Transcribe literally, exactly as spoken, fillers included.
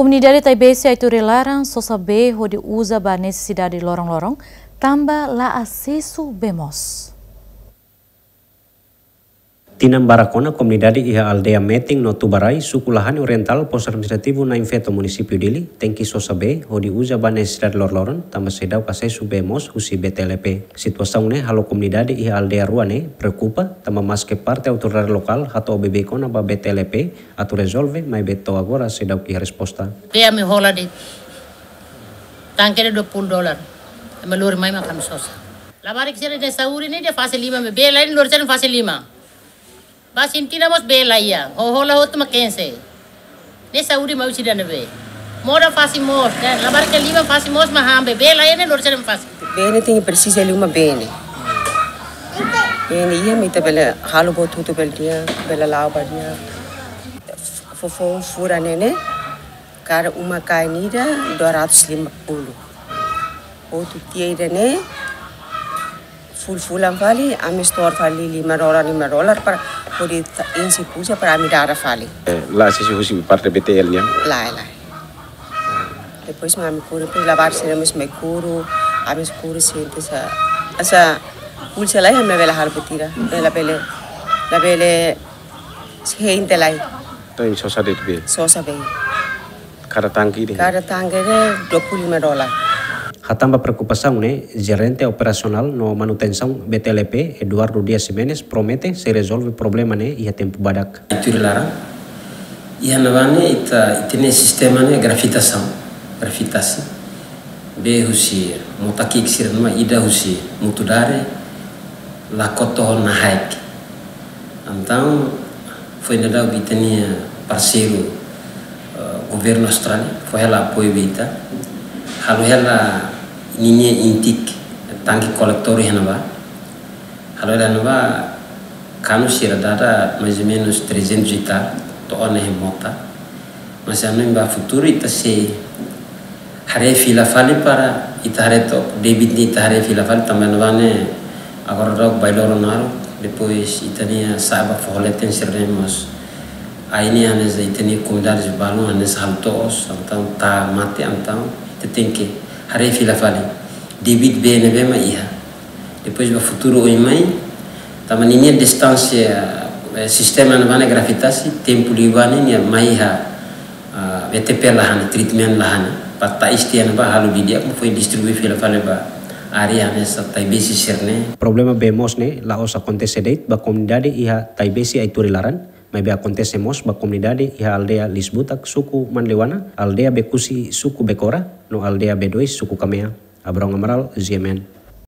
Komunidade Taibesi Aituri laran sosa bee hodi uza ba nesesidade loron-loron, tanba la asesu bee moos. Tinan barak ona komunidade iha aldeia Metin no Tubarai, suku Lahane Orientál, Pos Administrativu Nain Feto, Munisípiu Dili, tenke sosa bee hodi uza ba nesesidade loron-loron, tanba seidauk asesu bee moos husi B T L P. Situasaun ne'e halo komunidade iha aldeia rua ne'e preokupa, tanba maske parte autoridade lokál hato'o beibeik ona ba B T L P atu rezolve, maibé to'o agora seidauk iha resposta. Bee ami hola de'it tanke ne'e dua puluh dolar. Ami lori mai mak ami sosa. Labarik sira-ne'e saúde ne'e dehan fase lima, maibé bee laiha ne'e lori sira-ne'e fase lima. Ba sintina mós bee laiha, ho hola hotu mak kense. Ne'e saúde mak husi ida-ne'ebé? Moda fase moos, ne'e labarik lima fase moos mak han bee, bee laiha ne'e lori sira-ne'e fase. Bee ne'e tenke presiza liu mak bee ne'e. Bee ne'e iha mak ita bele halo buat hotu bele di'ak, bele la'o ba di'ak. Foufoun furak ne'e ne'e, kada uma-kain ida dua ratus lima puluh. Hotu tiha ida-ne'e, fulan-fulan fali, ami setor fali lima dolar, lima dolar para hodi ta-, enxe kuza para ami dada fali. Eh, la asesu husi parte B T L nian? Lae, lae. Depois mak ami kuru, depois labarik sira mós mai kuru, ami kuru sente sa, asa pulsa lai, ami bele halo buat ida, bele, bele, bele, sente lai. Entaun sosa de'it bee? Sosa bee. Kada tanke de'it? Kada tanke de'it dua puluh lima dolar. Hatán ba preokupasaun ne'e, Jerente Operasionál no Manutensaun B T L P, Eduardo Dias Ximenes, promete sei rezolve problema ne'e iha tempu badak. Aituri laran, iha ne'ebá ne'e ita, ita-nia sistema ne'e grafitasaun, grafitasi. Bee husi mota ki'ik sira-ne'e mak ida husi Mutudare, Lakoto ho Nahaek. Entaun, foin daudauk ita-nia parseiru, eh, governu Austrália, fó hela apoiu ba ita. Halo hela ninia intake, tanke kolektór iha ne'ebá. Halo hela ne'ebá, kanu sira dada mais ou menos trezentos e tal, to'o ona iha mota. Mas ami ba futuru ita sei haree fila fali para ita haree to'ok, débit ne'e ita haree fila fali, tanba ne'ebá ne'e agora daudauk bailoro naruk, depois ita-nia sa'e ba foho leten sira-ne'e mós. Ai ne'e hanesan ita-nia komunidade balun hanesan halo to'os, entaun ita mate, entaun ita tenke haree fila fali. Débit bee ne'ebé mak iha. Depois ba futuru oin mai, tanba ninia distánsia, eh, sistema ne'ebá ne'e grafitasi, tempu liubá ne'e nia mai iha, ah, B T P la han, treatment la han. Para ita iha ne'ebá halo didi'ak, mak foin distribui fila fali ba área hanesan Taibesi sira-ne'e. Problema bee moos ne'e la'ós akontese de'it ba komunidade iha Taibesi Aituri laran, maibé akontese mós ba komunidade iha aldeia Lisbutak, suku Manleuana, aldeia Bekusi, suku Bekora, no aldeia B dois, suku Kamea. Abrão Amaral, G M N.